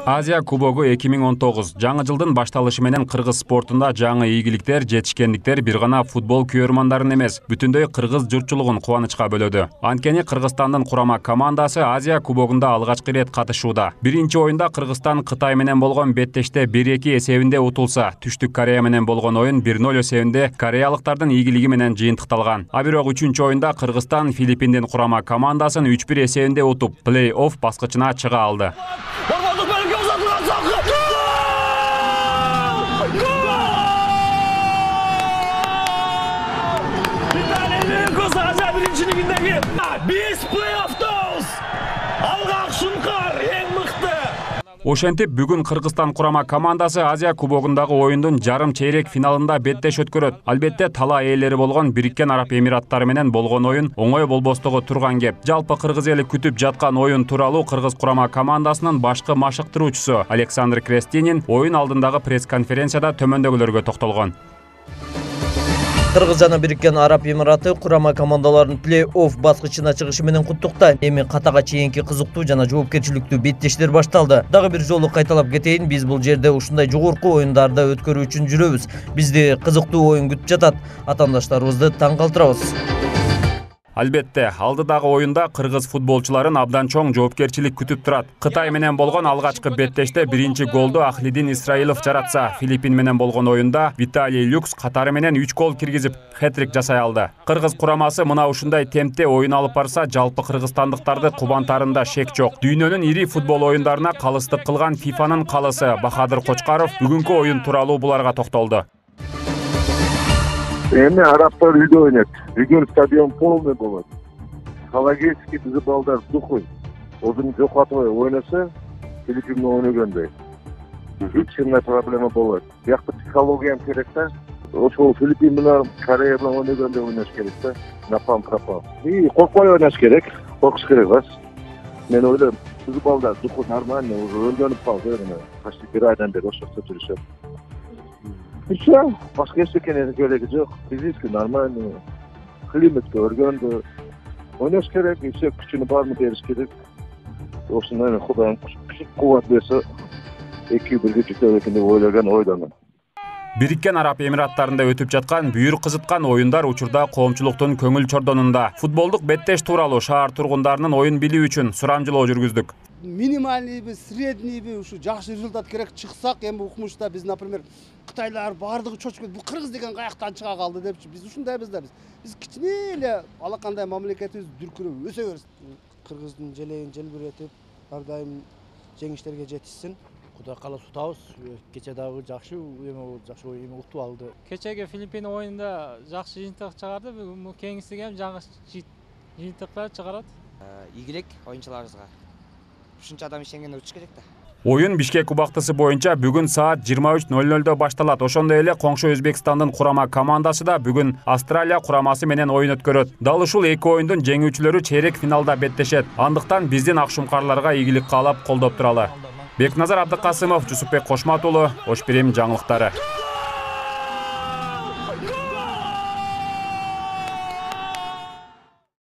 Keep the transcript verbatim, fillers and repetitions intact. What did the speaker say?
Азия кубогу эки миң он тогуз жаңы жылдын башталышы менен кыргыз спортунда жаңы ийгиликтер, жетишкендиктер бир гана футбол күйөрмандарын эмес, бүтүндөй кыргыз журтчулугун кубанычка бөлөдү. Анткени Кыргызстандын курама командасы Азия кубогунда алгачкы ирет катышууда. Биринчи оюнда Кыргызстан Кытай менен болгон беттеште бир эки эсебинде утулса, Түштүк Корея менен болгон оюн бир ноль эсебинде кореялыктардын ийгилиги менен жыйынтыкталган. А бирок үчүнчү оюнда Кыргызстан Филиппиндин курама командасын үч бир эсебинде утуп, плей-офф баскычына чыга алды. Биз плей-оффтабыз. Алгак Шункар эң мыкты. Ошентип бүгүн Кыргызстан курама командасы Азия кубогундагы оюндун жарым чейрек финалында беттеш өткөрөт. Албетте талаа ээлери болгон Бириккен Араб Эмираттары менен болгон оюн оңой болбостугу турган кеп. Жалпы кыргыз эли күтүп жаткан оюн тууралуу кыргыз курама командасынын башкы машыктыруучусу Александр Крестинин оюн алдындагы пресс-конференцияда төмөндөгүлөргө токтолгон. Кыргыз жана Бириккен Араб Эмираты курама командаларын плей-офф баскычына чыгышы менен куттуктайм. Эми катага чейинки кызыктуу жана жоопкерчиликтүү беттештер башталды. Дагы бир жолу кайталап кетейин, биз бул жерде ушундай жогорку оюндарда өткөрүү үчүн жүрөбүз. Бизди кызыктуу оюн күтүп жатат. Атаандаштарыбызды таң калтырабыз. Албетте, алдыдагы оюнда кыргыз футболчуларын абдан чоң жоопкерчилик күтүп турат. Кытай менен болгон алгачкы беттеште биринчи голду Ахлидин Исраилов жаратса, Филиппин менен болгон оюнда Виталий Люкс катары менен үч гол киргизип, хэт-трик жасай алды. Кыргыз курамасы мына ушундай темпте оюн алып барса, жалпы кыргызстандыктарды кубантарында шек жок. Дүйнөнүн ири футбол оюндарына калыстык кылган фифанын калысы Бахадыр Кочкаров бүгүнкү оюн тууралуу буларга токтолду. Эми арабтар үйдө ойнойт. Бүгүн стадион полный болот. Калагерский бизи балдар сухой. Озун жокотпой ойносо, Филиппин менен ойногондой. Эч кандай проблема болот. Биякта психология керек да. Ошол Филиппин менен Корея менен ойногондой ойнош керек да. Напам пропал. И коркпой ойнош керек. Коркуш керек эмес. Мен ойлойм, бизи балдар сухой нормально, уже өлгөнүп калды. Почти бир айдан бери ошол жүрүшөт. Все, башка эчтекенин кереги жок. Физически нормально. Климатка өргөндө. Ойнош керек, все күчүнү баарын бериш керек. Ошондой Кудайым кубат берсе, эки бирге жетет экен деп ойлогон ойдомун. Бириккен Араб Эмираттарында өтүп жаткан бүйүр кызыткан оюндар учурда коомчулуктун көңүл чордонунда. Футболдук беттеш тууралуу шаар тургундарынын оюн билүү үчүн сурамжылоо жүргүздүк. Минимальныйбы, среднийби, ушу жакшы результат керек чыксак, эми укмушта биз, например, кытайлар баардыгы чочуп кетип, бул кыргыз деген каяктан чыга калды депчи. Биз ушундайбыз да биз. Биз кичине эле алакандай мамлекетибиз дүркүрөп өсө берсин. Кыргыздын желегин желбиретип, ар дайым жеңиштерге жетишсин. Кудай кааласа утабыз. Кече дагы жакшы эме жакшы эме утуп алды. Кечеги Филиппин оюнда жакшы жыйынтык чыгарды. Бүгүн кеңесиге ham жаңы жыйынтыктар чыгарат. Ийгилик оюнчуларыбызга. Ушунча адам иштенгенде учуш керек да. Оюн Бишкек убактысы боюнча бүгүн саат жыйырма үч ноль нольдо башталат. Ошондой эле коңшу Өзбекстандын курама командасы да бүгүн Австралия курамасы менен оюн өткөрөт. Дал ушул эки оюндун жеңүүчүлөрү чейрек финалда беттешет. Андыктан биздин акшумкарларга ийгилик каалап колдоп туралы. Бекназар Абдыкасымов, Жусупбек Кошмат уулу, Ош Бирим жаңылыктары.